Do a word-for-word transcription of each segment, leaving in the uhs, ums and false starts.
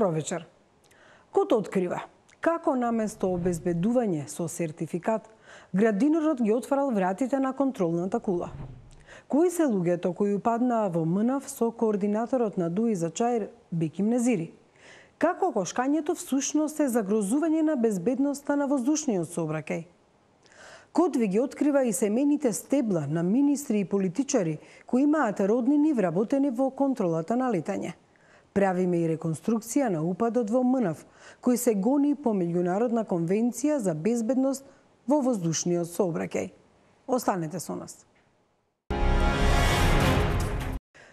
Добро вечер. Кот открива како наместо обезбедување со сертификат, градинарот ги отварал вратите на контролната кула. Кои се луѓето кои упаднаа во МНАВ со координаторот на ДУИ за Чаир Беким Незири? Како кошкањето всушност е загрозување на безбедноста на воздушниот сообраќај? Кот ви ги открива и семените стебла на министри и политичари кои имаат роднини вработени во контролата на летање. Правиме и реконструкција на упадот во МНАВ, кој се гони по меѓународна конвенција за безбедност во воздушниот сообраќај. Останете со нас.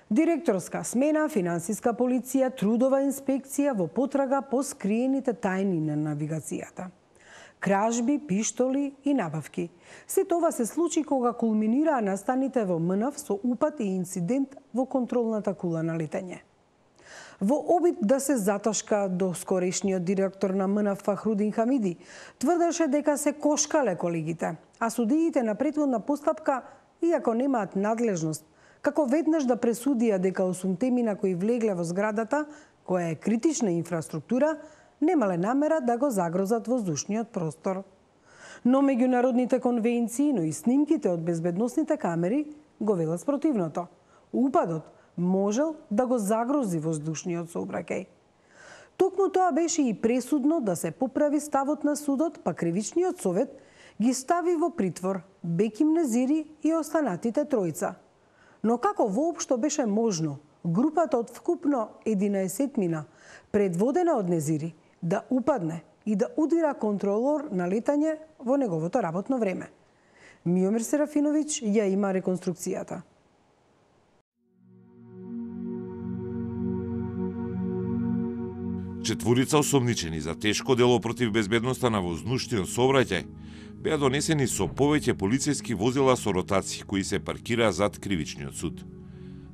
Директорска смена, финансиска полиција, трудова инспекција во потрага по скриените тајни на навигацијата. Кражби, пиштоли и набавки. Се това се случи кога кулминираа настаните во МНАВ со упад и инцидент во контролната кула на летање. Во обид да се заташка до скорешниот директор на МНАВ Фахрудин Хамиди, тврдеше дека се кошкале колегите, а судиите на претходна постапка, иако немаат надлежност, како веднаш да пресудија дека осумте мина кои влегле во зградата, која е критична инфраструктура, немале намера да го загрозат воздушниот простор. Но меѓународните конвенции, но и снимките од безбедносните камери го велат спротивното. Упадот можел да го загрози воздушниот сообраќај. Токму тоа беше и пресудно да се поправи ставот на судот, па кривичниот совет ги стави во притвор Беким Незири и останатите тројца. Но како воопшто беше можно групата од вкупно единаесет мина, предводена од Незири, да упадне и да удира контролор на летање во неговото работно време? Миомир Серафиновиќ ја има реконструкцијата. Четворица осомничени за тешко дело против безбедноста на воздушниот сообраќај беа донесени со повеќе полициски возила со ротации кои се паркираа зад кривичниот суд.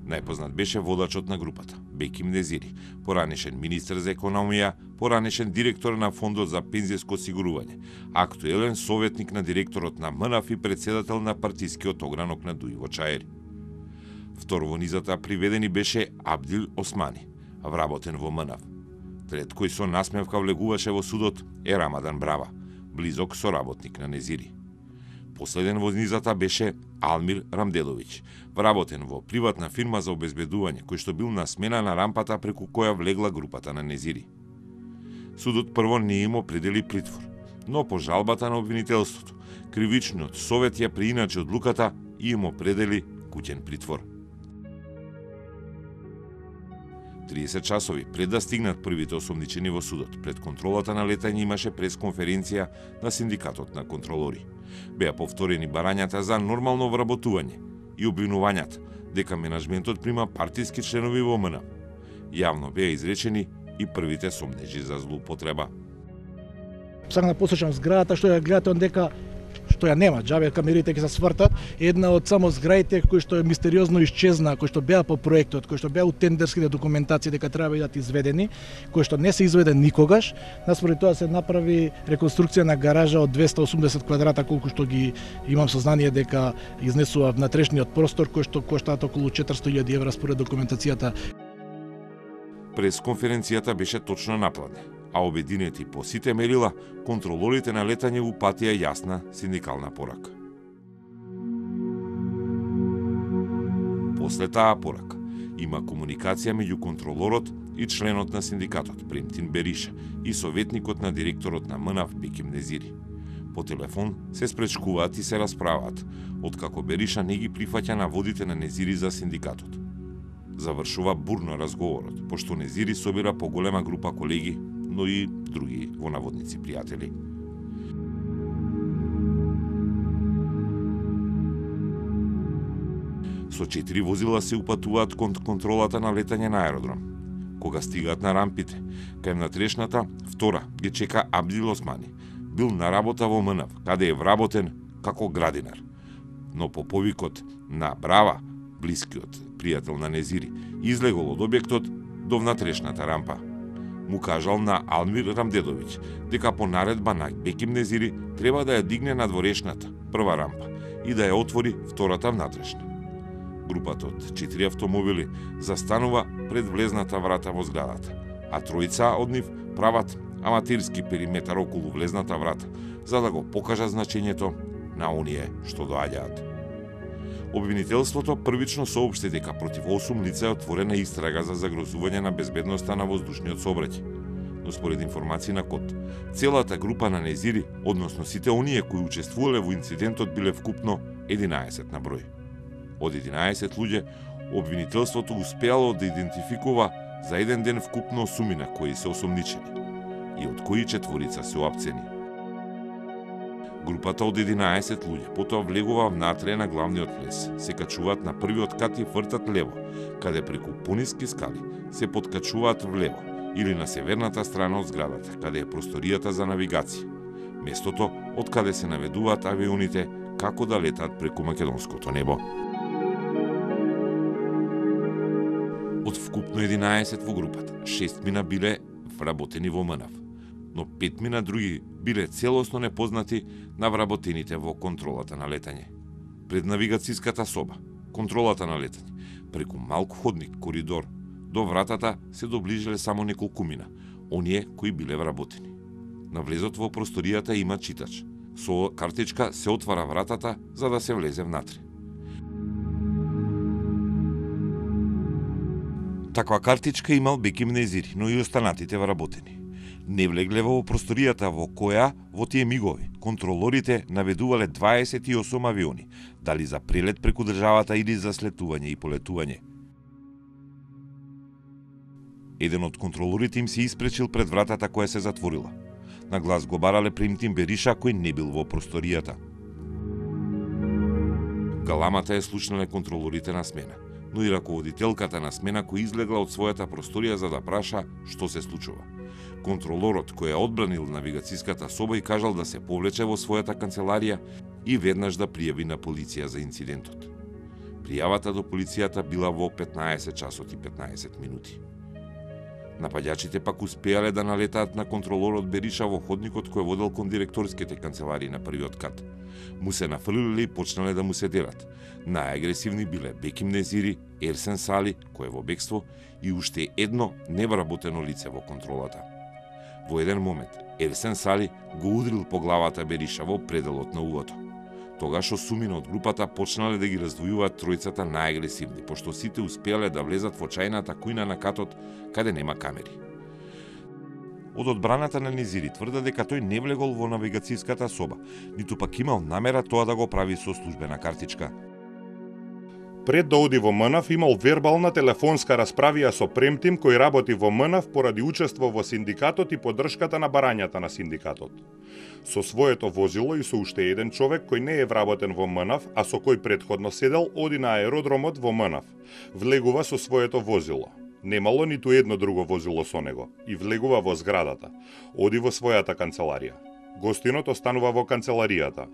Најпознат беше водачот на групата, Беким Незири, поранешен министер за економија, поранешен директор на Фондот за пензијско осигурување, актуелен советник на директорот на МНАВ и председател на партискиот огранок на ДУИ во Чаир. Втор во низата приведени беше Абдил Османи, вработен во МНАВ. Трет кој со насмевка влегуваше во судот е Рамадан Брава, близок соработник на Незири. Последен во низата беше Алмир Рамделовиќ, вработен во приватна фирма за обезбедување, кој што бил на смена на рампата преку која влегла групата на Незири. Судот прво не им определи притвор, но по жалбата на обвинителството, кривичниот совет ја прииначи одлуката и им определи куќен притвор. триесет часови пред да стигнат првите осомничени во судот, пред контролата на летање имаше пресконференција на синдикатот на контролори. Беа повторени барањата за нормално вработување и обвинувањата дека менаџментот прима партиски членови во МНАВ. Јавно беа изречени и првите сомнежи за злоупотреба. Сакам да посочам зградата што ја гледате дека што ја нема, џабе камерите ќе се свртат, една од само зградите кои што е мистериозно исчезна, кои што беа по проектот, кои што беа у тендерските документации дека треба да бидат изведени, кои што не се изведе никогаш. Наспоред тоа се направи реконструкција на гаража од двесте и осумдесет квадрата, колку што ги имам сознание дека изнесува внатрешниот простор, кој што коштаат околу четиристотини илјади евра според документацијата. Пресконференцијата беше точно напладне, а обединети по сите мерила, контролорите на летање упатија јасна синдикална порака. После таа порака, Има комуникација меѓу контролорот и членот на синдикатот Премтин Бериша и советникот на директорот на МНАВ Беким Незири. По телефон се спречкуваат и се расправаат, откако Бериша не ги прифаќа наводите на Незири за синдикатот. Завршува бурно разговорот, пошто Незири собира поголема група колеги, но и други во наводници пријатели. Со четири возила се упатуваат кон контролата на летање на аеродром. Кога стигаат на рампите, кај внатрешната, втора ги чека Абдил Османи. Бил на работа во МНАВ, каде е вработен како градинар. Но по повикот на Брава, блискиот пријател на Незири, излегол од објектот до внатрешната рампа. Му кажал на Алмир Рамдедовиќ дека по наредба на Беким Незири треба да ја дигне на дворешната, прва рампа, и да ја отвори втората внатрешна. Групата од четири автомобили застанува пред влезната врата во зградата, а тројца од нив прават аматерски периметар околу влезната врата, за да го покажат значењето на оние што доаѓаат. Обвинителството првично соопшти дека против осум лица е отворена истрага за загрозување на безбедноста на воздушниот сообраќај. Но според информации на КОТ, целата група на Незири, односно сите оние кои учествувале во инцидентот, биле вкупно единаесет на број. Од единаесет луѓе, обвинителството успеало да идентификува за еден ден вкупно осумина кои се осомничени, и од кои четворица се оапцени. Групата од единаесет луѓе потоа влегува внатре на главниот влез, се качуваат на првиот кат и вртат лево, каде преку пониски скали се подкачуваат влево или на северната страна од зградата, каде е просторијата за навигација, местото од каде се наведуваат авионите како да летаат преку македонското небо. Од вкупно единаесет во групата, шест мина биле вработени во МНАВ, но пет мина други биле целосно непознати на вработените во контролата на летање. Пред навигацијската соба, контролата на летање, преку малку ходник, коридор, до вратата се доближиле само неколку мина, оние кои биле вработени. На влезот во просторијата има читач. Со картичка се отвара вратата за да се влезе внатре. Таква картичка имал Беким Незири, но и останатите вработени. Не влегле во просторијата во која, во тие мигови, контролорите наведувале дваесет и осум авиони, дали за прелет преку државата или за слетување и полетување. Еден од контролорите им се испречил пред вратата која се затворила. На глас го барале Премтин Бериша, кој не бил во просторијата. Галамата е слушнале контролорите на смена, но и раководителката на смена кој излегла од својата просторија за да праша што се случува. Контролорот кој е одбранил навигацијската соба и кажал да се повлече во својата канцеларија и веднаш да пријави на полиција за инцидентот. Пријавата до полицијата била во петнаесет часот и петнаесет минути. Напаѓачите пак успеале да налетаат на контролорот Бериша во ходникот кој водел кон директорските канцеларии на првиот кат. Му се нафрлиле и почнале да му се делат. Најагресивни биле Беким Незири, Ерсен Сали, кој е во бегство, и уште едно невработено лице во контролата. Во еден момент, Ерсен Сали го удрил по главата Бериша во пределот на увото. Тогаш осумина од групата почнале да ги раздвојуваат тројцата најагресивни, пошто сите успеале да влезат во чајната кујна на катот, каде нема камери. Од одбраната на Незири тврда дека тој не влегол во навигацијската соба, ниту пак имал намера тоа да го прави со службена картичка. Пред да оди во МНАВ имал вербална телефонска расправија со Премтим кој работи во МНАВ поради учество во синдикатот и поддршката на барањата на синдикатот. Со своето возило и со уште еден човек кој не е вработен во МНАВ, а со кој претходно седел, оди на аеродромот во МНАВ. Влегува со своето возило. Немало ниту едно друго возило со него и влегува во зградата. Оди во својата канцеларија. Гостинот останува во канцеларијата.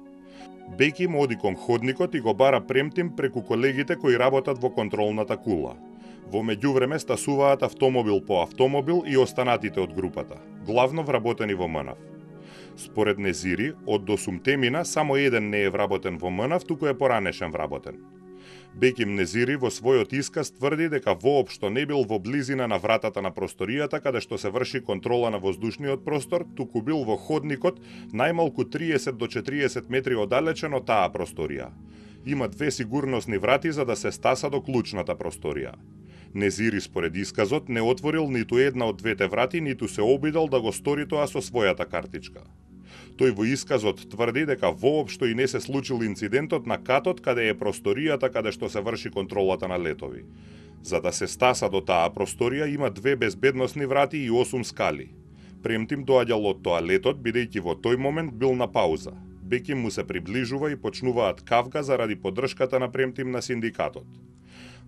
Беким оди кон ходникот и го бара Премтим преку колегите кои работат во контролната кула. Во меѓувреме стасуваат автомобил по автомобил и останатите од групата, главно вработени во МНАВ. Според Незири, од осумте мина само еден не е вработен во МНАВ, туку е поранешен вработен. Беким Незири во својот исказ тврди дека воопшто не бил во близина на вратата на просторијата каде што се врши контрола на воздушниот простор, туку бил во ходникот најмалку триесет до четириесет метри оддалечен од таа просторија. Има две сигурносни врати за да се стаса до клучната просторија. Незири според исказот не отворил ниту една од двете врати, ниту се обидел да го стори тоа со својата картичка. Тој во исказот тврди дека воопшто и не се случил инцидентот на катот каде е просторијата каде што се врши контролата на летови. За да се стаса до таа просторија има две безбедносни врати и осум скали. Премтим доаѓал од тоалетот, бидејќи во тој момент бил на пауза. Беким му се приближува и почнуваат кавга заради поддршката на Премтим на синдикатот.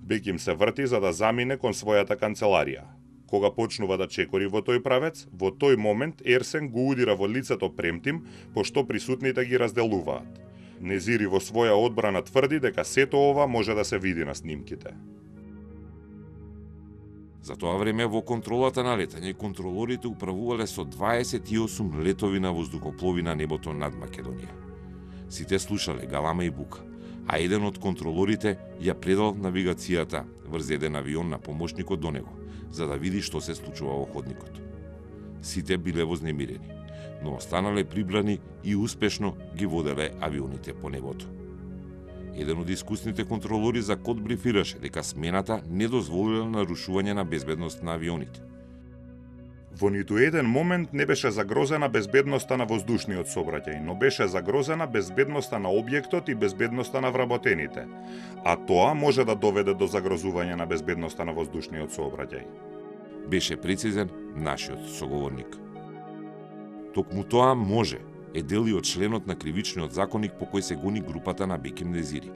Беким се врти за да замине кон својата канцеларија. Кога почнува да чекори во тој правец, во тој момент Ерсен го удира во лицето Премтим, пошто присутните ги разделуваат. Незири во своја одбрана тврди дека сето ова може да се види на снимките. За тоа време во контролата на летање контролорите управувале со дваесет и осум летови на воздухоплови на небото над Македонија. Сите слушале галама и бука, а еден од контролорите ја предал навигацијата врз еден авион на помошникот до него, за да види што се случува во ходникот. Сите биле вознемирени, но останале прибрани и успешно ги воделе авионите по небото. Еден од искусните контролори за код брифираше дека смената не дозволила нарушување на безбедност на авионите. Во ниту еден момент не беше загрозена безбедноста на воздушниот сообраќај, но беше загрозена безбедноста на објектот и безбедноста на вработените, а тоа може да доведе до загрозување на безбедноста на воздушниот сообраќај. Беше прецизен нашиот соговорник. Токму тоа може е дел и од членот на кривичниот законник по кој се гони групата на Беким Незири.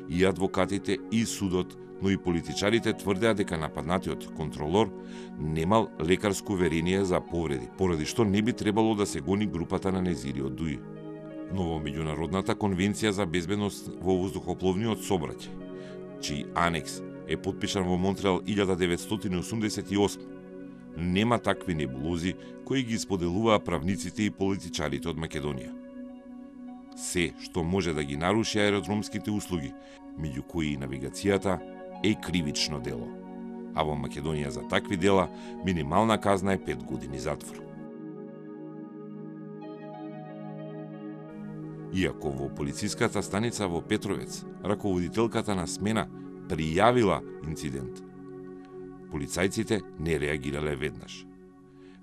И адвокатите, и судот, но и политичарите тврдеа дека нападнатиот контролор немал лекарско уверение за повреди, поради што не би требало да се гони групата на Незири од ДУИ. Но во Меѓународната конвенција за безбедност во воздухопловниот сообраќај, чиј анекс е потпишан во Монтреал илјада деветстотини осумдесет и осма, нема такви небулози кои ги споделуваа правниците и политичарите од Македонија. Се што може да ги наруши аеродромските услуги, меѓу кои и навигацијата, е кривично дело. А во Македонија за такви дела минимална казна е пет години затвор. Иако во полициската станица во Петровец, раководителката на смена пријавила инцидент, полицајците не реагирале веднаш.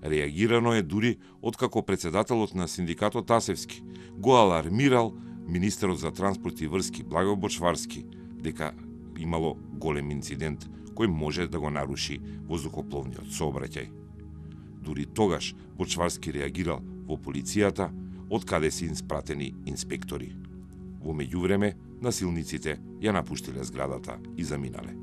Реагирано е дури откако председателот на синдикатот Тасевски го алармирал министерот за транспорт и врски Благо Бочварски дека имало голем инцидент кој може да го наруши воздухопловниот сообраќај. Дури тогаш Бочварски реагирал во полицијата, од каде се испратени инспектори. Во меѓувреме, насилниците ја напуштиле зградата и заминале.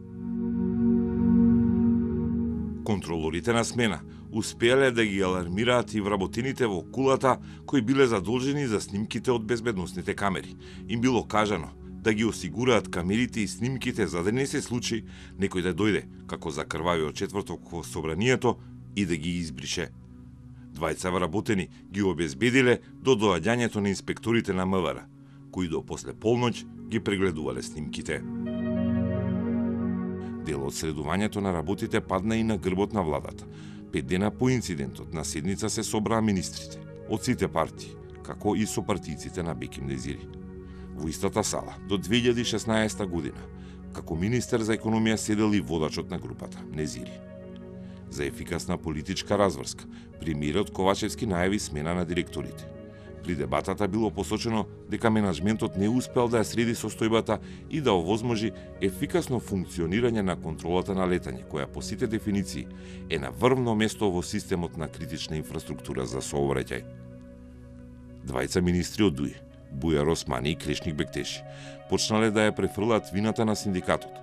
Контролорите на смена успеале да ги алармираат и вработените во кулата кои биле задолжени за снимките од безбедносните камери. Им било кажано да ги осигураат камерите и снимките за да не се случи некој да дојде, како закрвавиот четврток во собранието, и да ги избрише. Двајца вработени ги обезбедиле до доаѓањето на инспекторите на МВР, кои до после полноќ ги прегледувале снимките. Дел од следувањето на работите падна и на грбот на владата. Пет дена по инцидентот на седница се собраа министрите од сите партии, како и со партијците на Беким Незири. Во истата сала до две илјади и шеснаесета година, како министер за економија седел и водачот на групата Незири. За ефикасна политичка разврска, премиерот Ковачевски најави смена на директорите. При дебатата било посочено дека менаџментот не успел да ја среди состојбата и да овозможи ефикасно функционирање на контролата на летање, која по сите дефиниции е на врвно место во системот на критична инфраструктура за сообраќај. Двајца министри од ДУИ, Бујар Османи и Крешник Бектеши, почнале да ја префрлаат вината на синдикатот,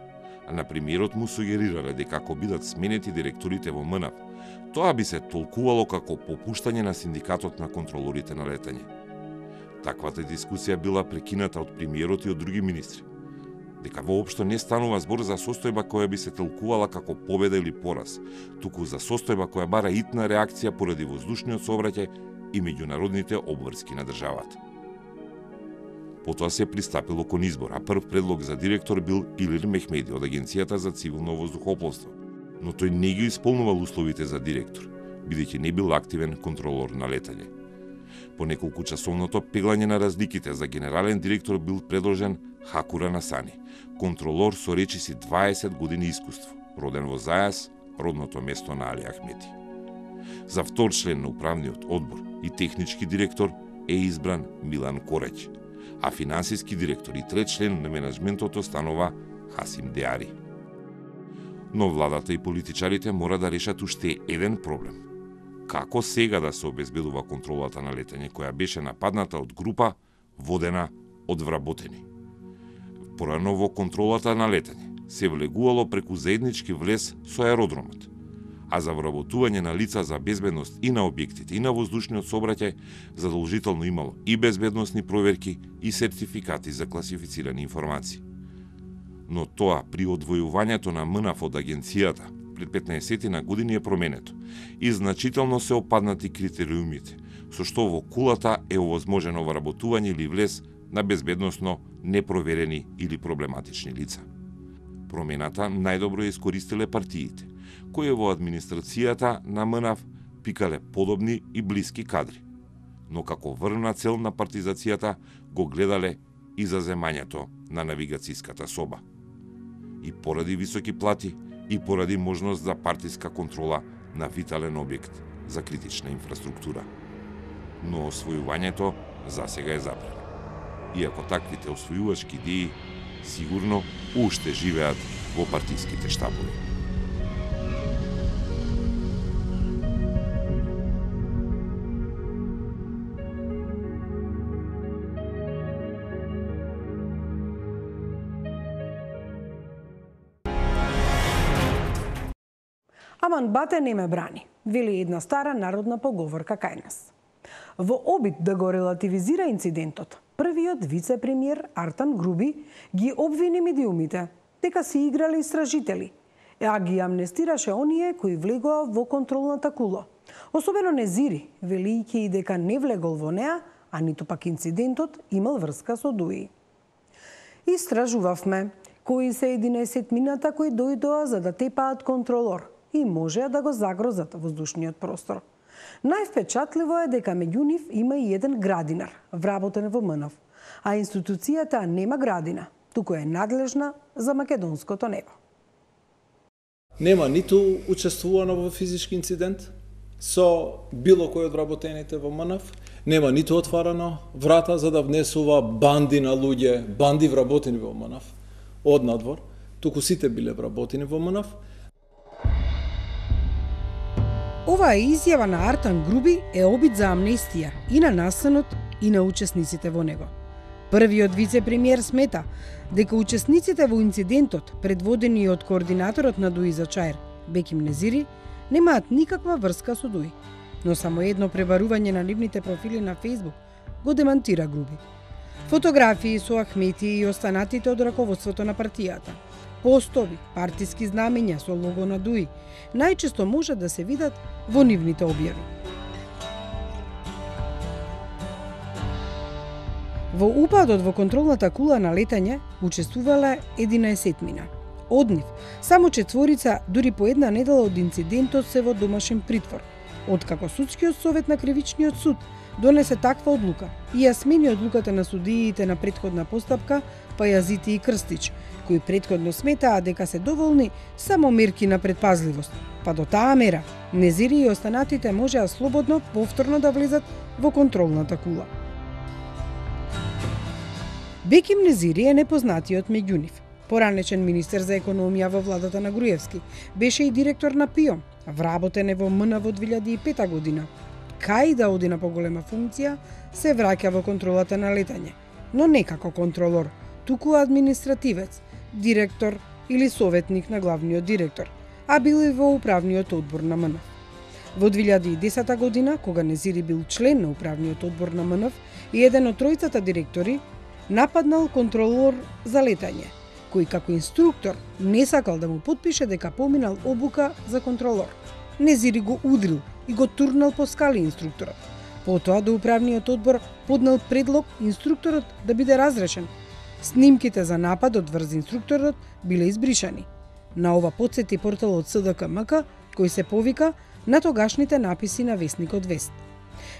а на премиерот му сугерирале дека ако бидат сменети директорите во МНАП, тоа би се толкувало како попуштање на синдикатот на контролорите на летање. Таквата дискусија била прекината од премиерот и од други министри, дека воопшто не станува збор за состојба која би се толкувала како победа или пораз, туку за состојба која бара итна реакција поради воздушниот сообраќај и меѓународните обврски на државата. Потоа се пристапило кон избор, а прв предлог за директор бил Илир Мехмеди од Агенцијата за цивилно воздухопловство, но тој не ги исполнувал условите за директор, бидејќи не бил активен контролор на летање. По неколку часовното пеглање на разликите за генерален директор бил предложен Хакура Насани, контролор со речиси дваесет години искуство, роден во Зајас, родното место на Али Ахмети. За втор член на управниот одбор и технички директор е избран Милан Кореќ, а финансиски директор и трет член на менеджментот останува Хасим Деари. Но владата и политичарите мора да решат уште еден проблем. Како сега да се обезбедува контролата на летање која беше нападната од група водена од вработени? Порано во контролата на летање се влегувало преку заеднички влез со аеродромот, а за вработување на лица за безбедност и на објектите и на воздушниот сообраќај задолжително имало и безбедносни проверки и сертификати за класифицирани информации. Но тоа при одвојувањето на МНАФ од агенцијата пред петнаесет години е променето и значително се опаднати критериумите, со што во кулата е овозможено вработување или влез на безбедносно непроверени или проблематични лица. Промената најдобро ја искористиле партиите, кои во администрацијата на МНАФ пикале подобни и блиски кадри, но како врвна цел на партизацијата го гледале и за земањето на навигацијската соба. И поради високи плати, и поради можност за партиска контрола на витален објект за критична инфраструктура. Но освојувањето засега е забрано. Иако таквите освојувачки идеи сигурно уште живеат во партиските штабови. Аман бате не ме брани, вели една стара народна поговорка кај нас. Во обид да го релативизира инцидентот, првиот вице-премиер Артан Груби ги обвини медиумите дека се играле истражители, а ги амнестираше оние кои влегоа во контролната кула. Особено Незири, велијќи и дека не влегол во неа, а ниту пак инцидентот имал врска со Дуи. Истражувавме кои се единаесетмината кои дојдоа за да тепаат контролор и можеа да го загрозат воздушниот простор. Највпечатливо е дека меѓу нив има и еден градинар, вработен во МНАФ, а институцијата нема градина, туку е надлежна за македонското небо. Нема ниту учествувано во физички инцидент со било кој од вработените во МНАФ, нема ниту отварано врата за да внесува банди на луѓе, банди вработени во МНАФ од надвор, туку сите биле вработени во МНАФ. Оваа изјава на Артан Груби е обид за амнестија и на настанот и на учесниците во него. Првиот вице-премиер смета дека учесниците во инцидентот, предводени од координаторот на Дуи за Чаир, Беким Незири, немаат никаква врска со Дуи. Но само едно пребарување на нивните профили на Facebook го демантира Груби. Фотографии со Ахмети и останатите од раководството на партијата, постови, партиски знамења со лого на Дуи, најчесто може да се видат во нивните објави. Во упадот во контролната кула на летање учествувале единаесетмина. Од нив, само четворица дури по една недела од инцидентот се во домашен притвор, откако Судскиот совет на Кривичниот суд донесе таква одлука и ја смени одлуката на судиите на претходна постапка Пајазити и Крстич, кои претходно сметаа дека се доволни само мерки на предпазливост, па до таа мера Незири и останатите можеа слободно повторно да влезат во контролната кула. Беким Незири е непознатиот меѓу нив. Поранечен министер за економија во владата на Груевски, беше и директор на ПИО, вработен е во МНАФ во две илјади и пета година. Кај да оди на поголема функција, се враќа во контролата на летање, но не како контролор, туку административец, директор или советник на главниот директор, а бил и во управниот одбор на МНАФ. Во две илјади и десета година, кога Незири бил член на управниот одбор на МНАФ и еден од тројцата директори, нападнал контролор за летање, кој како инструктор не сакал да му потпише дека поминал обука за контролор. Незири го удрил и го турнал по скали инструкторот. Потоа до управниот одбор поднал предлог инструкторот да биде разрешен. Снимките за нападот врз инструкторот биле избришани. На ова потсети порталот С Д К М К, кој се повика на тогашните написи на весникот Вест.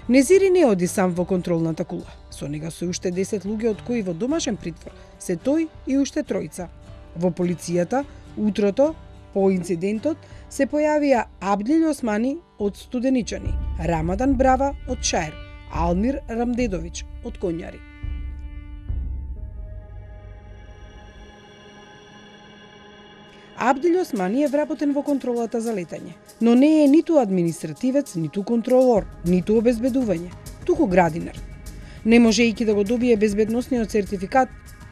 Незири не оди сам во контролната кула. Со нега се уште десет луѓе, од кои во домашен притвор се тој и уште тројца. Во полицијата, утрото, По инцидентот се појавија Абдил Османи од Студеничани, Рамадан Брава од Чаир, Алмир Рамдедовиќ од Конјари. Абдил Османи е вработен во контролата за летање, но не е ниту административец, ниту контролор, ниту обезбедување, туку градинар. Не можејќи да го добие безбедносниот сертификат,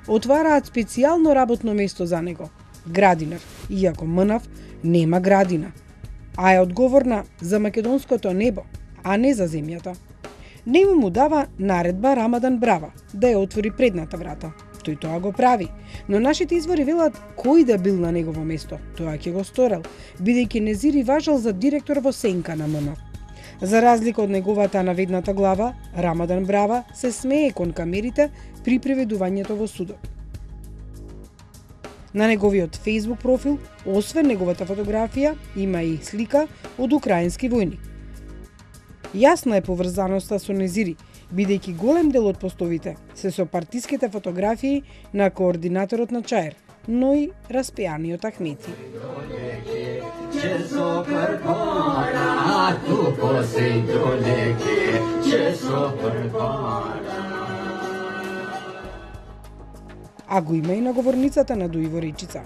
отвараат специјално работно место за него – градинар, иако МНАФ нема градина, а е одговорна за македонското небо, а не за земјата. Нему му дава наредба Рамадан Брава да ја отвори предната врата. Тој тоа го прави, но нашите извори велат кој да бил на негово место, тоа ќе го сторел, бидејќи Незири важел за директор во сенка на МНАФ. За разлика од неговата наведната глава, Рамадан Брава се смее кон камерите при приведувањето во судот. На неговиот Facebook профил, освен неговата фотографија, има и слика од украински војник. Јасна е поврзаноста со Незири, бидејќи голем дел од постовите се со партиските фотографии на координаторот на Чаир, но и распеаниот Ахмети. А го има и на говорницата на Дуи во Речица.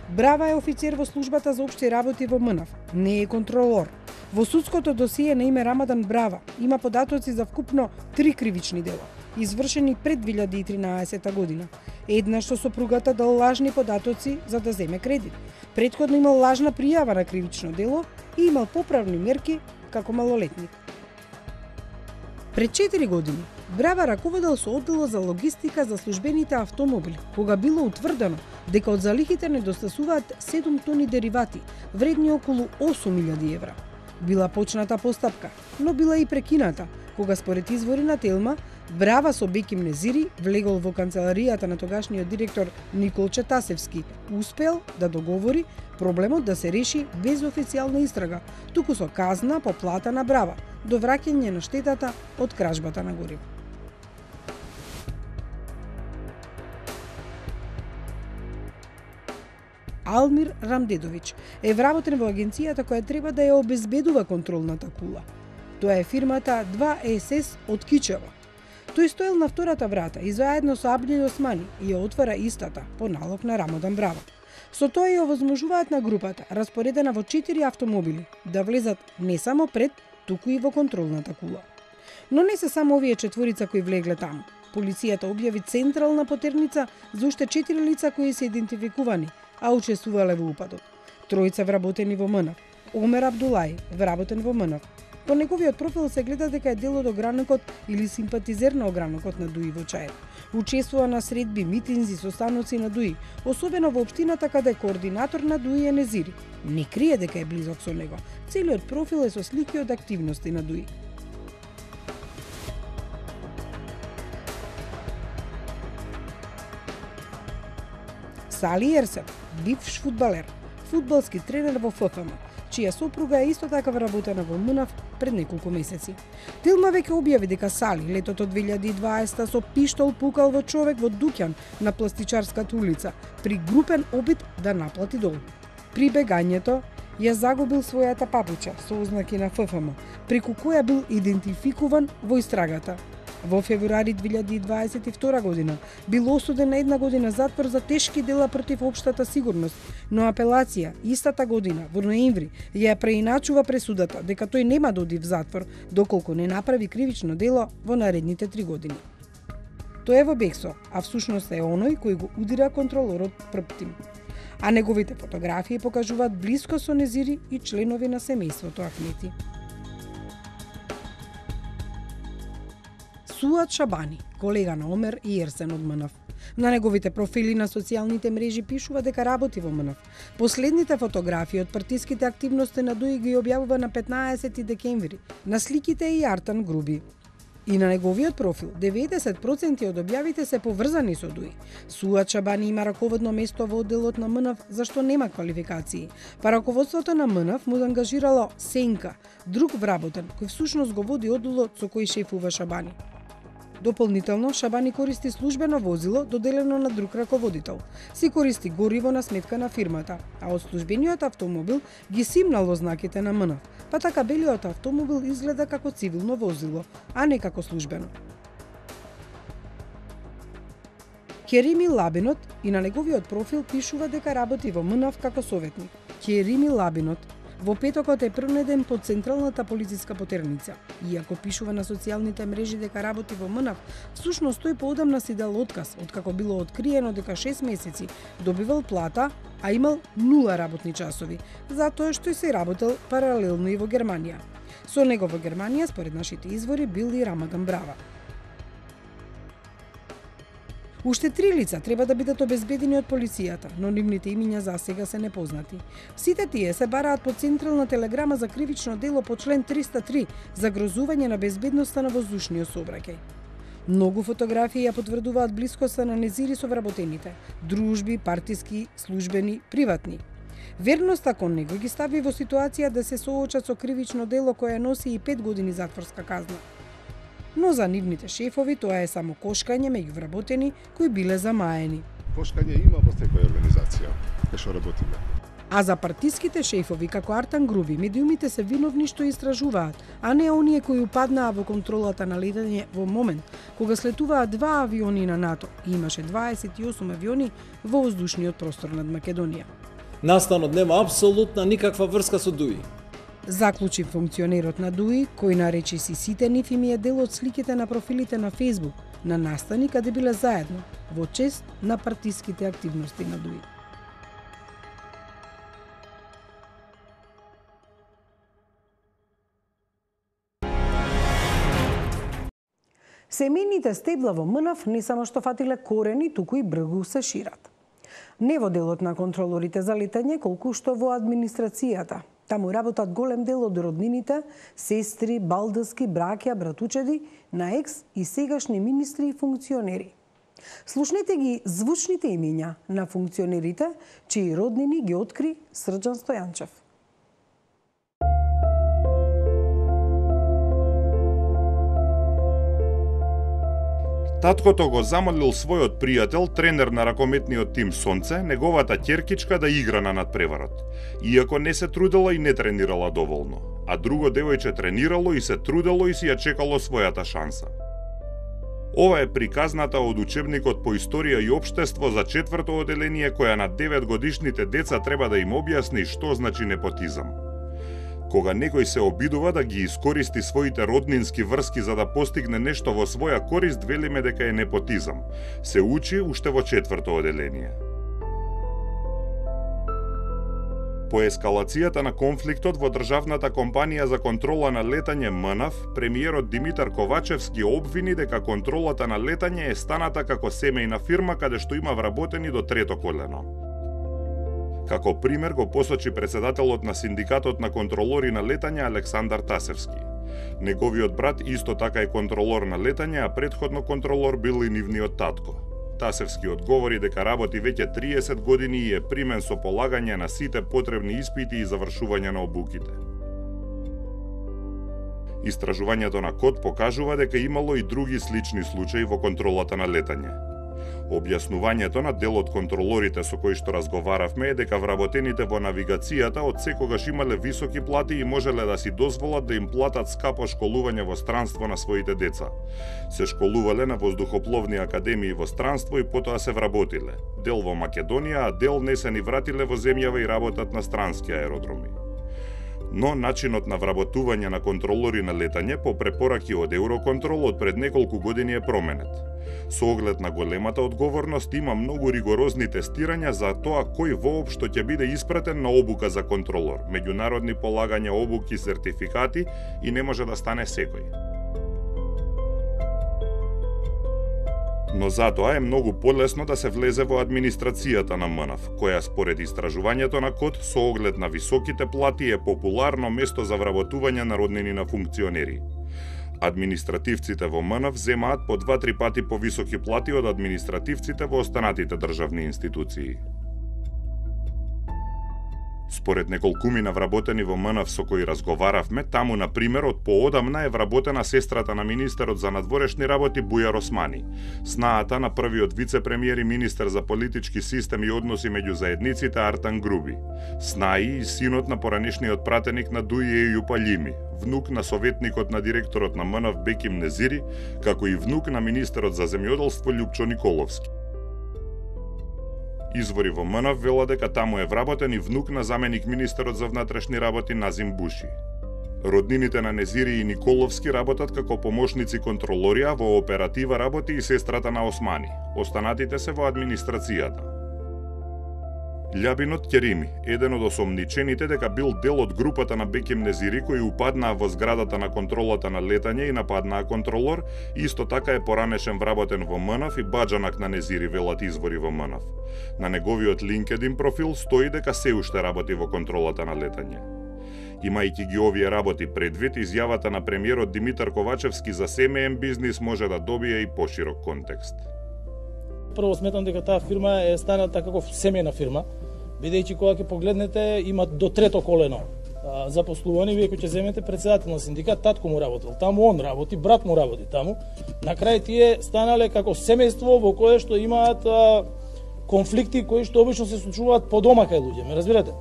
Брава е офицер во службата за општи работи во МНАФ, не е контролор. Во судското досие на име Рамадан Брава има податоци за вкупно три кривични дела, извршени пред две илјади и тринаесета година. Еднаш со сопругата дал лажни податоци за да земе кредит. Претходно имал лажна пријава на кривично дело и имал поправни мерки како малолетник. Пред четири години Брава раководел со одделот за логистика за службените автомобили, кога било утврдено дека од залихите недостасуваат седум тони деривати, вредни околу осум илјади евра. Била почната постапка, но била и прекината, кога според извори на Телма, Брава со Беким Незири влегол во канцеларијата на тогашниот директор Никол Четасевски, успел да договори проблемот да се реши без официјална истрага, туку со казна по плата на Брава, до враќање на штетата од кражбата на гориво. Алмир Рамдедовиќ е вработен во агенцијата која треба да ја обезбедува контролната кула. Тоа е фирмата два ес ес од Кичево. Тој стоел на втората врата и заедно со Абдил Османи ја отвара истата по налог на Рамадан Брава. Со тоа ја овозможуваат на групата, распоредена во четири автомобили, да влезат не само пред, туку и во контролната кула. Но не се само овие четворица кои влегле таму. Полицијата објави централна потерница за уште четири лица кои се идентификувани, а учествувале во упадот. Тројца вработени во МНАФ. Омер Абдулај, вработен во МНАФ. По неговиот профил се гледа дека е дел од огранокот или симпатизер на огранокот на Дуи во Чаир. Учествува на средби, митинзи, состаноци на Дуи, особено во општината каде е координатор на Дуи е Незири. Не крие дека е близок со него. Целиот профил е со слики од активности на Дуи. Сали Ерсев, бивш фудбалер, фудбалски тренер во Ф Ф М, чија сопруга е исто така вработена во МНАФ пред неколку месеци. Телма веќе објави дека Сали летото две илјади и дваесета со пиштол пукал во човек во дуќан на Пластичарската улица при групен обид да наплати долг. При бегањето ја загубил својата папуча со ознаки на Ф Ф М, преку која бил идентификуван во истрагата. Во февруари две илјади и дваесет и втора година бил осуден на една година затвор за тешки дела против општата сигурност, но апелација истата година во ноември ја преиначува пресудата дека тој нема да оди в затвор доколку не направи кривично дело во наредните три години. Тој е во бегство, а всушност е оној кој го удира контролорот Прптим. А неговите фотографии покажуваат блиско со Незири и членови на семејството Ахмети. Суат Шабани, колега на Омер и Ерсен од МНАФ. На неговите профили на социјалните мрежи пишува дека работи во МНАФ. Последните фотографии од партиските активности на Дуи ги објавува на петнаесети декември. На сликите е и Артан Груби. И на неговиот профил деветдесет проценти од објавите се поврзани со Дуи. Суат Шабани има раководно место во одделот на МНАФ зашто нема квалификации. Па раководството на МНАФ му ангажирало Сенка, друг вработен, кој всушност го води одделот со кој шефува Шабани. Дополнително, Шабани користи службено возило доделено на друг раководител. Си користи гориво на сметка на фирмата, а од службениот автомобил ги симнало знаките на МНАФ, па така белиот автомобил изгледа како цивилно возило, а не како службено. Керими Лабинот и на неговиот профил пишува дека работи во МНАФ како советник. Керими Лабинот во петокот е пронеден под Централната полициска потерница. Иако пишува на социјалните мрежи дека работи во МНАФ, всушност тој поодамна си дал отказ, откако било откриено дека шест месеци добивал плата, а имал нула работни часови, затоа што се работел паралелно и во Германија. Со него во Германија, според нашите извори, бил и Рамадан Брава. Уште три лица треба да бидат обезбедени од полицијата, но нивните имиња за сега се непознати. Сите тие се бараат по Централна телеграма за кривично дело по член триста три за грозување на безбедноста на воздушниот сообраќај. Многу фотографии ја потврдуваат блискоста на Незири со вработените, дружби, партиски, службени, приватни. Верноста кон него ги стави во ситуација да се соочат со кривично дело кое носи и пет години затворска казна. Но за нивните шефови тоа е само кошкање меѓу вработени кои биле замаени. Кошкање има во секоја организација, кај што работиме. А за партиските шефови како Артан Груби, медиумите се виновни што истражуваат, а не оние кои упаднаа во контролата на летање во момент кога слетуваа два авиони на НАТО и имаше дваесет и осум авиони во воздушниот простор над Македонија. Настанот нема апсолутна никаква врска со ДУИ. Заклучи функционерот на ДУИ, кој наречи си сите нив им е дел од сликите на профилите на Facebook на настани каде биле заедно во чест на партиските активности на ДУИ. Семејните стебла во МНАФ не само што фатиле корени, туку и бргу се шират. Не во делот на контролорите за летање, колку што во администрацијата. Таму работат голем дел од роднините, сестри, балдски, браќа, братучеди на екс и сегашни министри и функционери. Слушнете ги звучните имиња на функционерите, чии роднини ги откри Срđan Стојанчев. Таткото го замолил својот пријател, тренер на ракометниот тим Сонце, неговата ќеркичка да игра на надпреварот, иако не се трудела и не тренирала доволно, а друго девојче тренирало и се трудело и си ја чекало својата шанса. Ова е приказната од учебникот по историја и општество за четврто оделение која на деветгодишните деца треба да им објасни што значи непотизам. Кога некој се обидува да ги искористи своите роднински врски за да постигне нешто во своја корист, велиме дека е непотизам. Се учи уште во четврто оделение. По ескалацијата на конфликтот во државната компанија за контрола на летање МНАФ, премиерот Димитар Ковачевски обвини дека контролата на летање е станата како семејна фирма каде што има вработени до трето колено. Како пример го посочи председателот на синдикатот на контролори на летање Александар Тасевски. Неговиот брат исто така е контролор на летање, а претходно контролор бил и нивниот татко. Тасевски одговори дека работи веќе триесет години и е примен со полагање на сите потребни испити и завршување на обуките. Истражувањето на КОД покажува дека имало и други слични случаи во контролата на летање. Објаснувањето на дел од контролорите со кои што разговаравме е дека вработените во навигацијата од секогаш имале високи плати и можеле да си дозволат да им платат скапо школување во странство на своите деца. Се школувале на воздухопловни академии во странство и потоа се вработиле. Дел во Македонија, а дел не се ни вратиле во земјава и работат на странски аеродроми. Но начинот на вработување на контролори на летање по препораки од Евроконтрол од пред неколку години е променет. Со оглед на големата одговорност има многу ригорозни тестирања за тоа кој воопшто ќе биде испратен на обука за контролор, меѓународни полагања обуки, сертификати и не може да стане секој. Но затоа е многу полесно да се влезе во администрацијата на МНАФ, која според истражувањето на КОД со оглед на високите плати е популарно место за вработување на роднини на функционери. Административците во МНАФ земаат по два-три пати повисоки плати од административците во останатите државни институции. Според неколкумина вработени во МНАФ со кои разговаравме, таму, на пример, од поодамна е вработена сестрата на министерот за надворешни работи Бујар Османи, снаата на првиот вице-премиер и министер за политички систем и односи меѓу заедниците Артан Груби, снаи и синот на поранешниот пратеник на Дуи Ејуп Алими, внук на советникот на директорот на МНАФ Беким Незири, како и внук на министерот за земјоделство Љупчо Николовски. Извори во МНАФ велат дека таму е вработен и внук на заменик министерот за внатрешни работи Назим Буши. Роднините на Незири и Николовски работат како помошници контролори, а во оператива работи и сестрата на Османи. Останатите се во администрацијата. Љабинот Керими, еден од осомничените дека бил дел од групата на Беким Незири кои упаднаа во зградата на контролата на летање и нападнаа контролор, исто така е поранешен вработен во МНАФ и баџанак на Незири, велат извори во МНАФ. На неговиот LinkedIn профил стои дека се уште работи во контролата на летање. Имајќи ги овие работи предвид, изјавата на премиерот Димитар Ковачевски за семеен бизнис може да добие и поширок контекст. Прво сметам дека таа фирма е станата како семејна фирма, бидејќи кога ќе погледнете има до трето колено запослувани, вие кој ќе земете председател на синдикат, татко му работел таму, он работи, брат му работи таму. На крај тие станале како семејство во кое што имаат а, конфликти кои што обично се случуваат по дома кај луѓе, ме разбирате?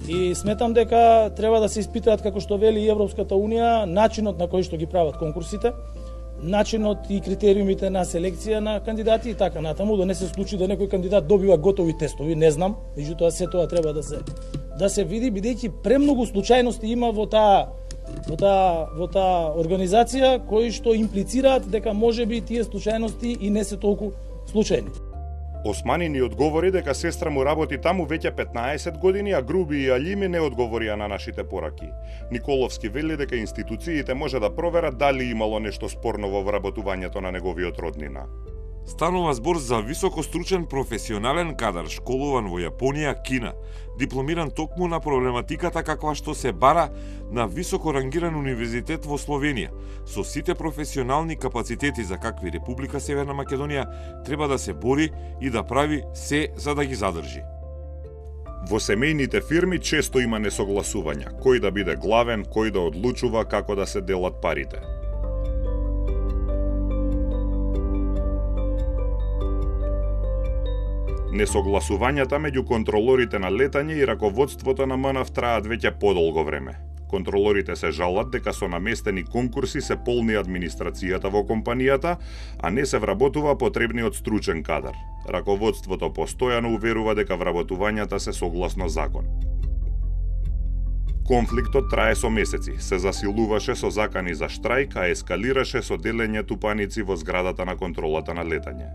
И сметам дека треба да се испитаат, како што вели и Европската унија, начинот на кој што ги прават конкурсите, начинот и критериумите на селекција на кандидати и така натаму, да не се случи да некој кандидат добива готови тестови, не знам, меѓутоа се тоа треба да се да се види, бидејќи премногу случајности има во таа во таа во таа организација кои што имплицираат дека можеби тие случајности и не се толку случајни. Османи ни одговори дека сестра му работи таму веќе петнаесет години, а Груби и Алими не одговорија на нашите пораки. Николовски вели дека институциите може да проверат дали имало нешто спорно во вработувањето на неговиот роднина. Станува збор за високостручен професионален кадар, школуван во Јапонија, Кина, дипломиран токму на проблематиката каква што се бара на високо рангиран универзитет во Словенија, со сите професионални капацитети за какви Република Северна Македонија треба да се бори и да прави се за да ги задржи. Во семејните фирми често има несогласувања, кој да биде главен, кој да одлучува како да се делат парите. Несогласувањата меѓу контролорите на летање и раководството на МНАФ траат веќе подолго време. Контролорите се жалат дека со наместени конкурси се полни администрацијата во компанијата, а не се вработува потребниот стручен кадар. Раководството постојано уверува дека вработувањата се согласно закон. Конфликтот трае со месеци, се засилуваше со закани за штрајк, а ескалираше со делење тупаници во зградата на контролата на летање.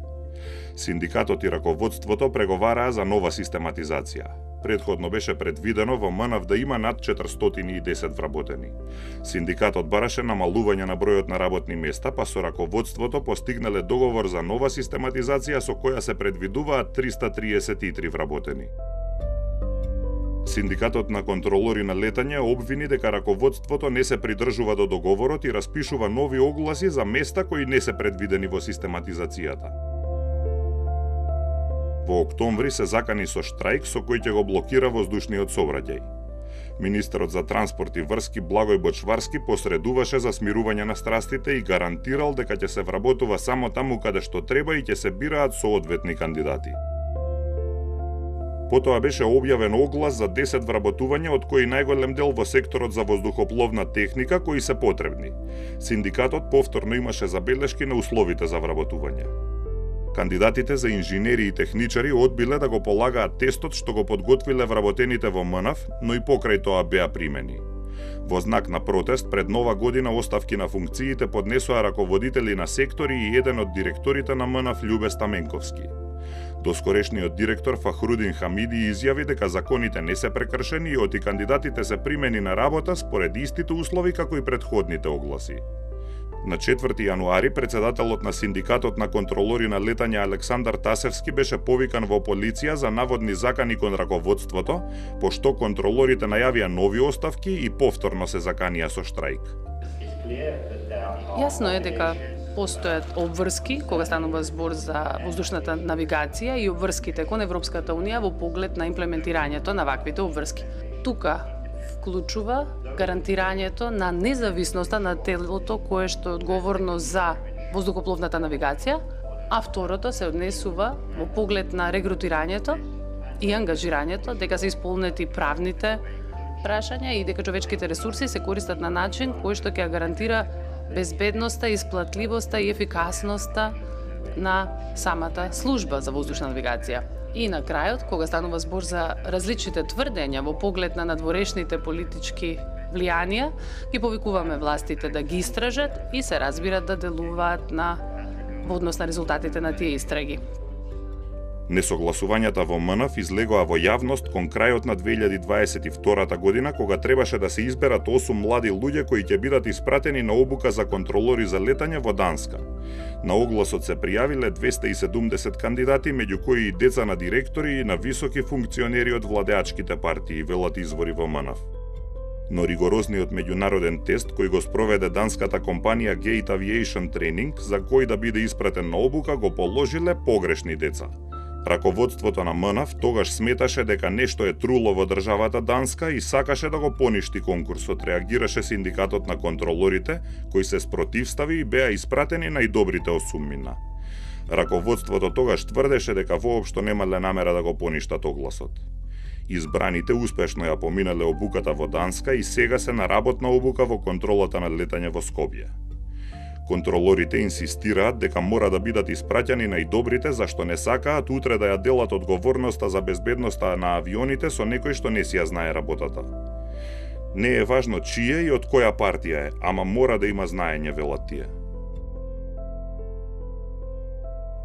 Синдикатот и раководството преговараа за нова систематизација. Предходно беше предвидено во МНАФ да има над четиристотини и десет вработени. Синдикатот бараше намалување на бројот на работни места, па со раководството постигнале договор за нова систематизација со која се предвидуваат триста триесет и три вработени. Синдикатот на контролори на летање обвини дека раководството не се придржува до договорот и распишува нови огласи за места кои не се предвидени во систематизацијата. Во октомври се закани со штрајк со кој ќе го блокира воздушниот сообраќај. Министерот за транспорт и врски Благој Бочварски посредуваше за смирување на страстите и гарантирал дека ќе се вработува само таму каде што треба и ќе се бираат соодветни кандидати. Потоа беше објавен оглас за десет вработувања, од кои најголем дел во секторот за воздухопловна техника, кои се потребни. Синдикатот повторно имаше забелешки на условите за вработување. Кандидатите за инженери и техничари одбиле да го полагаат тестот што го подготвиле вработените во МНАФ, но и покрај тоа беа примени. Во знак на протест пред нова година оставки на функциите поднесоа раководители на сектори и еден од директорите на МНАФ Љубе Стаменковски. Доскорешниот директор Фахрудин Хамиди изјави дека законите не се прекршени и оти кандидатите се примени на работа според истите услови како и претходните огласи. На четврти јануари председателот на синдикатот на контролори на летање Александар Тасевски беше повикан во полиција за наводни закани кон раководството, пошто контролорите најавија нови оставки и повторно се заканија со штрајк. Јасно е дека постојат обврски кога станува збор за воздушната навигација и обврските кон Европската унија во поглед на имплементирањето на ваквите обврски. тука вклучува гарантирањето на независноста на телото кое што е одговорно за воздухопловната навигација, а второто се однесува во поглед на регрутирањето и ангажирањето дека се исполнети правните прашања и дека човечките ресурси се користат на начин кој што ќе гарантира безбедноста, исплатливоста и ефикасноста на самата служба за воздушна навигација. И на крајот, кога станува збор за различните тврдења во поглед на надворешните политички влијанија, ги повикуваме властите да ги истражат и се разбира да делуваат на во однос на резултатите на тие истраги. Несогласувањата во МНФ излегоа во јавност кон крајот на две илјади дваесет и втора година, кога требаше да се изберат осум млади луѓе кои ќе бидат испратени на обука за контролори за летање во Данска. На огласот се пријавиле двесте и седумдесет кандидати, меѓу кои и деца на директори и на високи функционери од владеачките партии, велат извори во МНФ. Но ригорозниот меѓународен тест кој го спроведе данската компанија Gate Aviation Training, за кој да биде испратен на обука, го положиле погрешни деца. Раководството на МНФ тогаш сметаше дека нешто е труло во државата Данска и сакаше да го поништи конкурсот, реагираше синдикатот на контролорите, кои се спротивстави и беа испратени најдобрите осуммина. Раководството тогаш тврдеше дека воопшто немале намера да го поништат огласот. Избраните успешно ја поминале обуката во Данска и сега се на работна обука во контролата на летање во Скопје. Контролорите инсистираат дека мора да бидат испраќани најдобрите, зашто не сакаат утре да ја делат одговорноста за безбедноста на авионите со некој што не си ја знае работата. Не е важно чие и од која партија е, ама мора да има знаење, велат тие.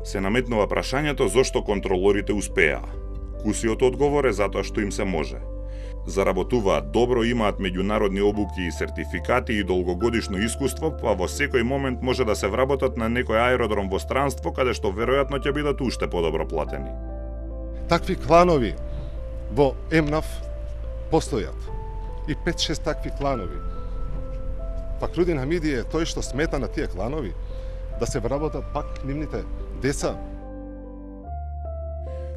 Се наметнува прашањето зошто контролорите успеа. Кусиот одговор е затоа што им се може. Заработуваат добро, имаат меѓународни обуки и сертификати и долгогодишно искуство, па во секој момент може да се вработат на некој аеродром во странство, каде што веројатно ќе бидат уште подобро платени. Такви кланови во ЕМНАФ постојат. И пет-шест такви кланови. Пак Рудин Хамиди е тој што смета на тие кланови да се вработат пак нивните деца.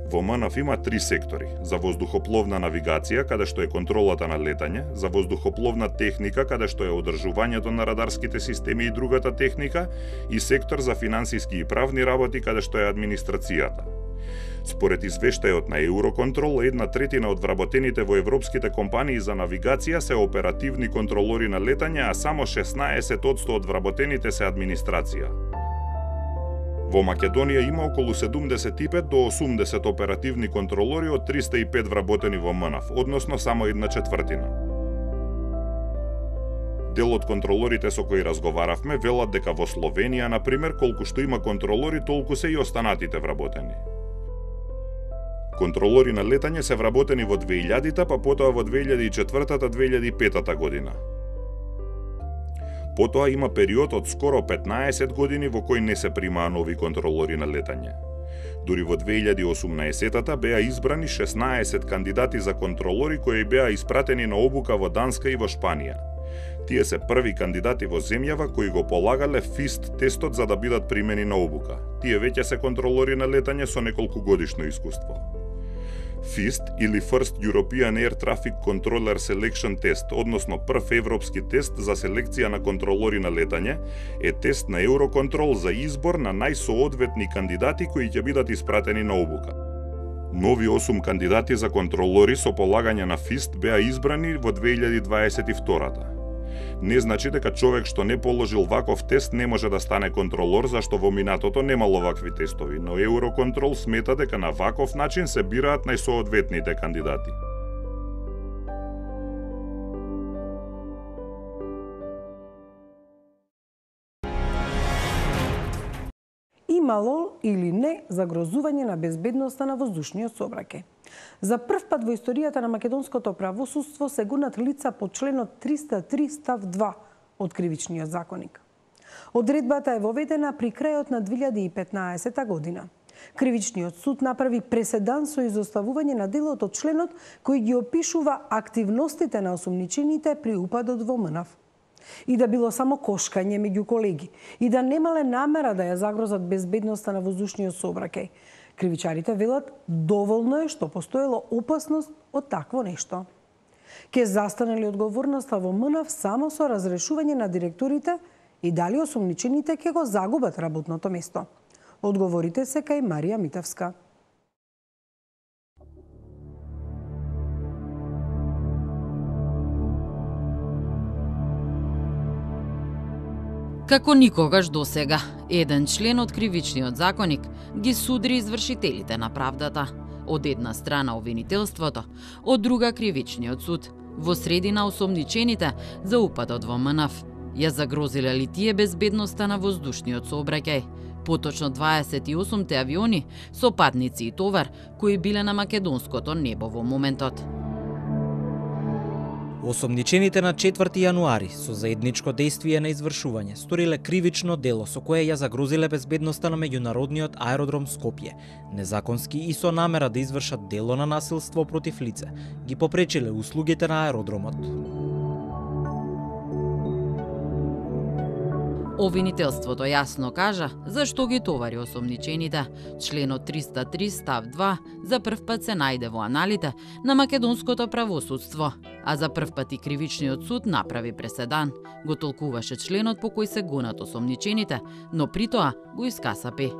Во МНФ има три сектори: за воздухопловна навигација, каде што е контролата на летање, за воздухопловна техника, каде што е одржувањето на радарските системи и другата техника, и сектор за финансиски и правни работи, каде што е администрацијата. Според извештајот на Евроконтрол, една третина од вработените во европските компании за навигација се оперативни контролори на летање, а само шеснаесет одсто од вработените се администрација. Во Македонија има околу седумдесет и пет до осумдесет оперативни контролори од триста и пет вработени во МНФ, односно само една четвртина. Дел од контролорите со кои разговаравме велат дека во Словенија, например, колку што има контролори, толку се и останатите вработени. Контролори на летање се вработени во две илјадите, па потоа во две илјади и четвртата - две илјади и петата година. Потоа има период од скоро петнаесет години во кој не се примаа нови контролори на летање. Дури во две илјади и осумнаесетата беа избрани шеснаесет кандидати за контролори кои беа испратени на обука во Данска и во Шпанија. Тие се први кандидати во земјава кои го полагале ФИСТ тестот за да бидат примени на обука. Тие веќе се контролори на летање со неколку годишно искуство. ФИСТ или First European Air Traffic Controller Selection Test, односно прв европски тест за селекција на контролори на летање, е тест на Евроконтрол за избор на најсоодветни кандидати кои ќе бидат испратени на обука. Нови осум кандидати за контролори со полагање на ФИСТ беа избрани во две илјади дваесет и втората. Не значи дека човек што не положил ваков тест не може да стане контролор, зашто во минатото немало вакви тестови, но Евроконтрол смета дека на ваков начин се бираат најсоодветните кандидати. Имало или не загрозување на безбедноста на воздушниот сообраќај. За прв пат во историјата на македонското правосудство се гонат лица по членот триста и три став два од Кривичниот законник. Одредбата е воведена при крајот на две илјади и петнаесета година. Кривичниот суд направи преседан со изоставување на делот од членот кој ги опишува активностите на осумничените при упадот во МНФ. И да било само кошкање меѓу колеги, и да немале намера да ја загрозат безбедноста на воздушниот сообраќај. Кривичарите велат доволно е што постоело опасност од такво нешто. Ке застане ли одговорноста во МНАФ само со разрешување на директорите и дали осомничените ќе го загубат работното место? Одговорите се кај Марија Митевска. Како никогаш досега, еден член од кривичниот законник ги судри извршителите на правдата. Од една страна обвинителството, од друга кривичниот суд, во средина осомничените за упадот во МНАФ. Ја загрозиле ли тие безбедноста на воздушниот сообраќај? Поточно дваесет и осумте авиони со патници и товар кои биле на македонското небо во моментот. Осомничените на четврти јануари со заедничко дејствие на извршување сториле кривично дело со кое ја загрозиле безбедноста на меѓународниот аеродром Скопје. Незаконски и со намера да извршат дело на насилство против лице, ги попречиле услугите на аеродромот. Обвинителството јасно кажа зашто ги товари осомничените. Членот триста три став два за прв пат се најде во аналите на македонското правосудство, а за прв пат и кривичниот суд направи преседан. Го толкуваше членот по кој се гонат осомничените, но при тоа го искасапи.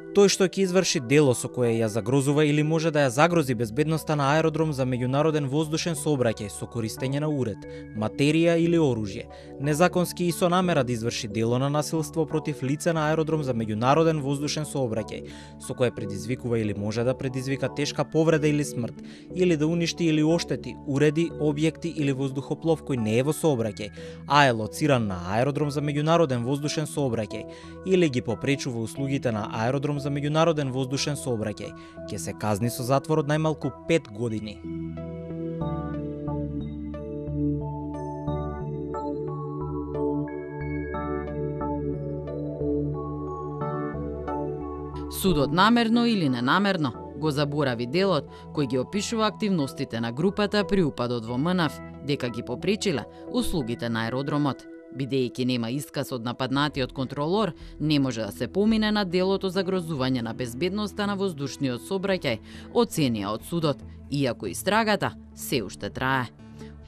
Тој што ќе изврши дело со кое ја загрозува или може да ја загрози безбедноста на аеродром за меѓународен воздушен сообраќај со користење на уред, материја или оружје, незаконски и со намера да изврши дело на насилство против лице на аеродром за меѓународен воздушен сообраќај, со кое предизвикува или може да предизвика тешка повреда или смрт, или да уништи или оштети уреди, објекти или воздухоплов кој не е во сообраќај, а е лоциран на аеродром за меѓународен воздушен сообраќај, или ги попречува услугите на аеродром за меѓународен воздушен сообраќај, ќе се казни со затвор од најмалку пет години. Судот намерно или ненамерно го заборави делот кој ги опишува активностите на групата при упадот во МНАФ, дека ги попречила услугите на аеродромот. Бидејќи нема исказ од нападнатиот контролор, не може да се помине на делото за загрозување на безбедноста на воздушниот сообраќај, оценија од судот, иако истрагата се уште трае.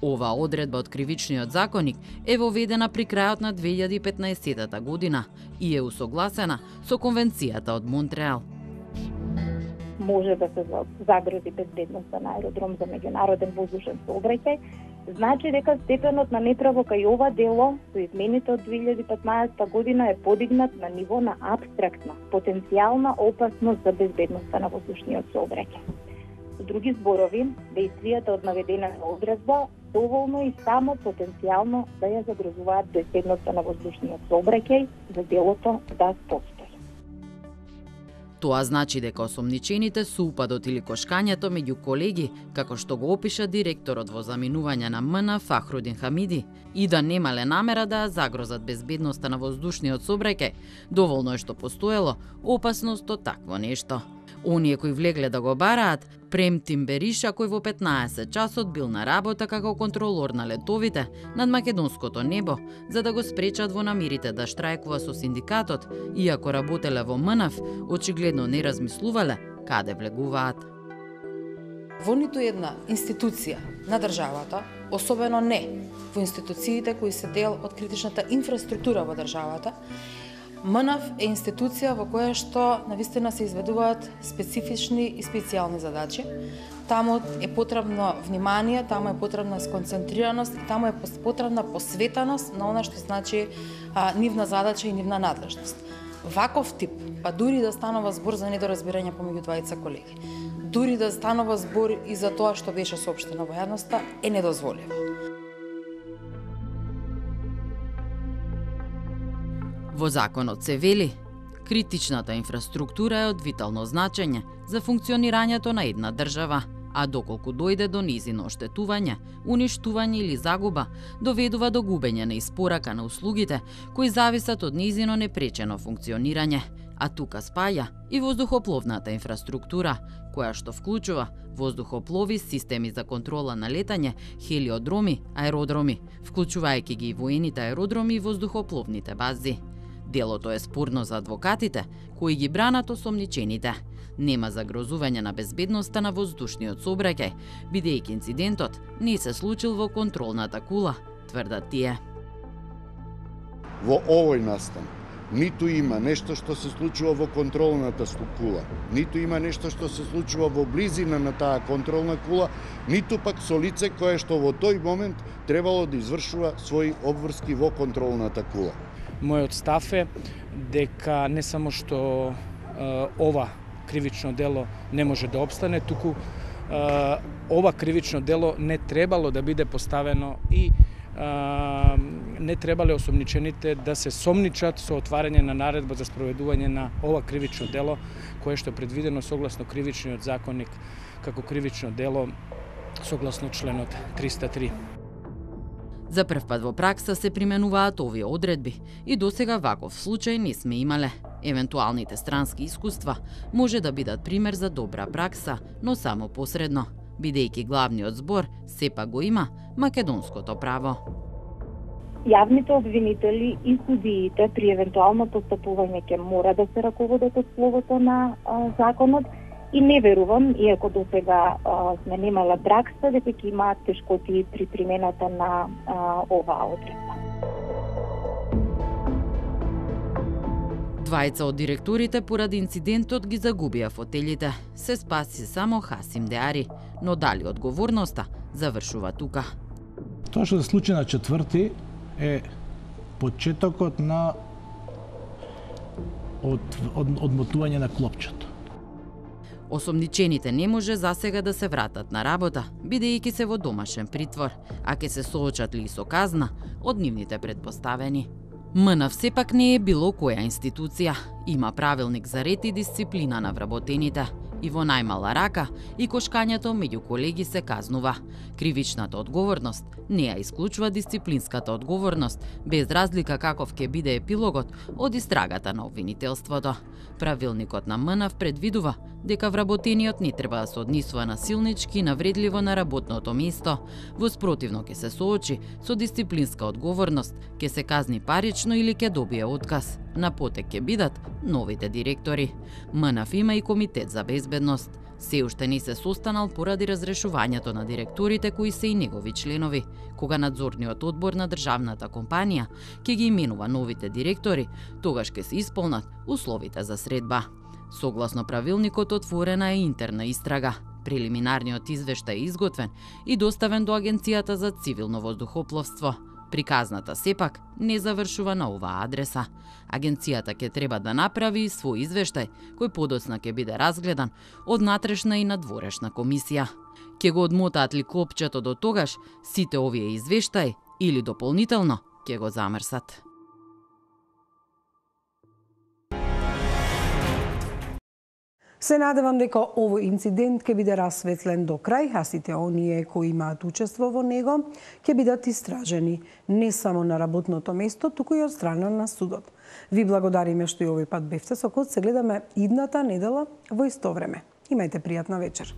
Ова одредба од кривичниот законник е воведена при крајот на две илјади и петнаесетта година и е усогласена со Конвенцијата од Монтреал. Може да се загрози безбедноста на аеродром за меѓународен воздушен сообраќај, значи дека степенот на неправо кај ова дело со измените од две илјади и петнаесетта година е подигнат на ниво на апстрактна, потенцијална опасност за безбедноста на воздушниот сообраќај. Со други зборови, дејствијата од наведената одредба доволно и само потенцијално да ја загрозуваат безбедноста на воздушниот сообраќај за делото да постои. Тоа значи дека осомничените со упадот или кошкањето меѓу колеги, како што го опиша директорот во заминување на МНАФ Фахрудин Хамиди, и да немале намера да ја загрозат безбедноста на воздушниот сообраќај, доволно е што постоело опасност од такво нешто. Оние кои влегле да го бараат, Премтим Бериша, кој во петнаесет часот бил на работа како контролор на летовите над македонското небо, за да го спречат во намерите да штрајкува со синдикатот, иако работеле во МНАФ, очигледно не размислувале каде влегуваат. Во ниту една институција на државата, особено не во институциите кои се дел од критичната инфраструктура во државата, МНАФ е институција во која што навистина се изведуваат специфични и специјални задачи. Таму е потребно внимание, таму е потребна сконцентрираност и таму е потребна посветеност на она што значи а, нивна задача и нивна надлежност. Ваков тип, па дури да станува збор за недоразбирање помеѓу двајца колеги, дури да станува збор и за тоа што беше соопштено во јавноста, е недозволиво. Во законот се вели, критичната инфраструктура е од витално значење за функционирањето на една држава, а доколку дојде до низино оштетување, уништување или загуба, доведува до губење на испорака на услугите кои зависат од низино непречено функционирање, а тука спаја и воздухопловната инфраструктура, која што вклучува воздухоплови, системи за контрола на летање, хелиодроми, аеродроми, вклучувајќи ги и воените аеродроми и воздухопловните бази. Делото е спорно за адвокатите, кои ги бранат осомничените. Нема загрозување на безбедноста на воздушниот сообраќај, бидејќи инцидентот не се случил во контролната кула, тврдат тие. Во овој настан ниту има нешто што се случува во контролната кула, ниту има нешто што се случува во близина на таа контролна кула, ниту пак со лице кое што во тој момент требало да извршува своји обврски во контролната кула. Мојот став е дека не само што е, ова кривично дело не може да обстане, туку е, ова кривично дело не требало да биде поставено и не требале осомничените да се сомничат со отварање на наредба за спроведување на ова кривично дело, кое што е предвидено согласно кривичниот законник како кривично дело согласно членот триста три. За прв пат во пракса се применуваат овие одредби и досега ваков случај не сме имале. Евентуалните странски искуства може да бидат пример за добра пракса, но само посредно, бидејќи главниот збор сепак го има македонското право. Јавните обвинители и судиите при евентуално постапување ќе мора да се раководат од словото на а, законот и не верувам, иако до сега а, сме немале пракса, дека ќе имаат тешкоти при примената на а, оваа одредба. Двајца од директорите поради инцидентот ги загубија фотелите. Се спаси само Хасим Деари, но дали одговорноста завршува тука. Тоа што се случи на четврти е почетокот на од, од, одмотување на клопчето. Осомничените не може засега да се вратат на работа, бидејќи се во домашен притвор, а ќе се соочат ли со казна од нивните предпоставени. МНАФ сепак не е било која институција. Има правилник за ред и дисциплина на вработените. И во најмала рака и кошкањето меѓу колеги се казнува. Кривичната одговорност не ја исклучува дисциплинската одговорност, без разлика каков ќе биде епилогот од истрагата на обвинителството. Правилникот на МНАФ предвидува дека вработениот не треба да се однесува насилнички и навредливо на работното место. Во спротивно ќе се соочи со дисциплинска одговорност, ќе се казни парично или ќе добие отказ. На потек ќе бидат новите директори. МНАФ има и комитет за безбедност. Се уште не се состанал поради разрешувањето на директорите кои се и негови членови. Кога надзорниот одбор на државната компанија ќе ги именува новите директори, тогаш ќе се исполнат условите за средба. Согласно правилникот отворена е интерна истрага. Прелиминарниот извештај е изготвен и доставен до Агенцијата за цивилно воздухопловство. Приказната сепак не завршува на оваа адреса. Агенцијата ќе треба да направи свој извештај, кој подоцна ќе биде разгледан од натрешна и надворешна комисија. Ќе го одмотаат ли клопчето до тогаш, сите овие извештаи или дополнително ќе го замрсат. Се надевам дека овој инцидент ќе биде расветлен до крај, а сите оние кои имаат учество во него ќе бидат истражени не само на работното место, туку и од страна на судот. Ви благодариме што и овој пат бевте со код. Се гледаме идната недела во исто време. Имајте пријатна вечер.